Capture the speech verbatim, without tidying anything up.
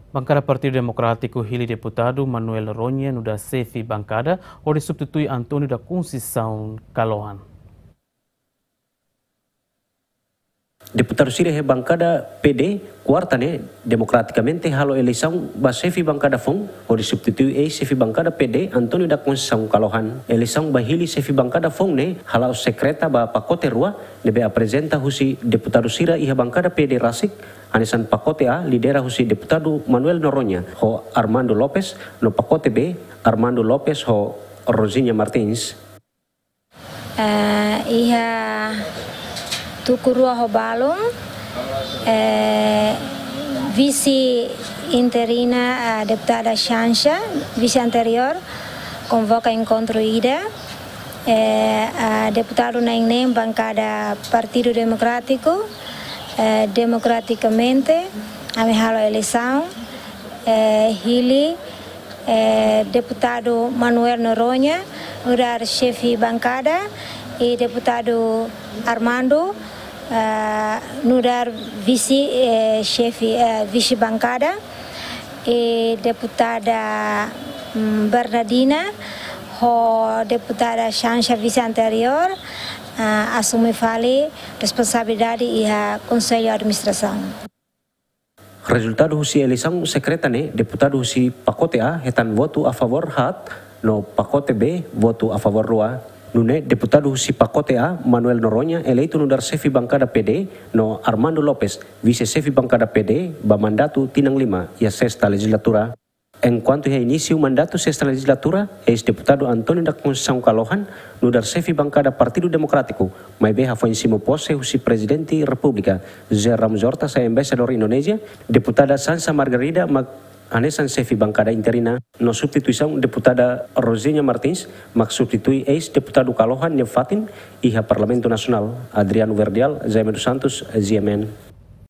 Bankada Partidu Demokrátiku hili deputadu Manuel Noronha nu'udar xefe bankada, hodi substitui António da Conceição Kalohan. Deputadu sira iha bankada P D, kuarta ne'e, demokratikamente halo eleisaun ba xefe bankada foun, hodi substitui eis-xefe bankada P D, António da Conceição Kalohan. Eleisaun ba hili xefe bankada foun ne'e hala'o sekreta ba pakote rua, ne'ebé aprezenta husi deputadu sira iha bankada P D rasik, hanesan pakote A, lidera husi deputadu Manuel Noronha ho Armando Lopes, no pakote B, Armando Lopes ho Rosinha Martins. Eh, iha tuku rua ho balun, eh, vise interina, eh, deputada Xanxa, vise anteriór, konvoka enkontru ida, eh, eh, deputadu na'in-neen bankada Partidu Demokrátiku, eh, demokratikamente, ami halo eleisaun, eh, hili, eh, deputadu Manuel Noronha nu'udar xefe bankada, i deputadu Armando, eh, nu'udar vise, eh, xefe, eh, vise bankada, i deputada, mm, Bernardina ho deputada Xanxa, vise anteriór, eh, asume fali responsabilidade iha Konsellu Administrasaun. Rezultadu husi eleisaun sekreta ne'e, deputadu husi pakote A hetan votu a favór haat, no pakote B votu a favór rua. Nune'e deputadu husi pakote A, Manuel Noronha, eleitu nu'udar xefe bankada P D, no Armando Lopes, vise-xefe bankada P D, ba mandatu tinan lima iha sesta lejizlatura. Enkuantu iha inísiu mandatu sesta lejizlatura, eis-deputadu António da Conceição Kalohan nu'udar xefe bankada Partidu Demokrátiku, maibé hafoin simu pose husi Prezidente Repúblika, José Ramos Horta, sai embaixadór Indonézia, deputada Xanxa Margarida mak hanesan xefe bankada interina, no substituisaun deputada Rosinha Martins mak substitui eis-deputadu Kalohan nia fatin iha Parlamentu Nasionál, Adriano Verdial, Jaime dos Santos, G M N.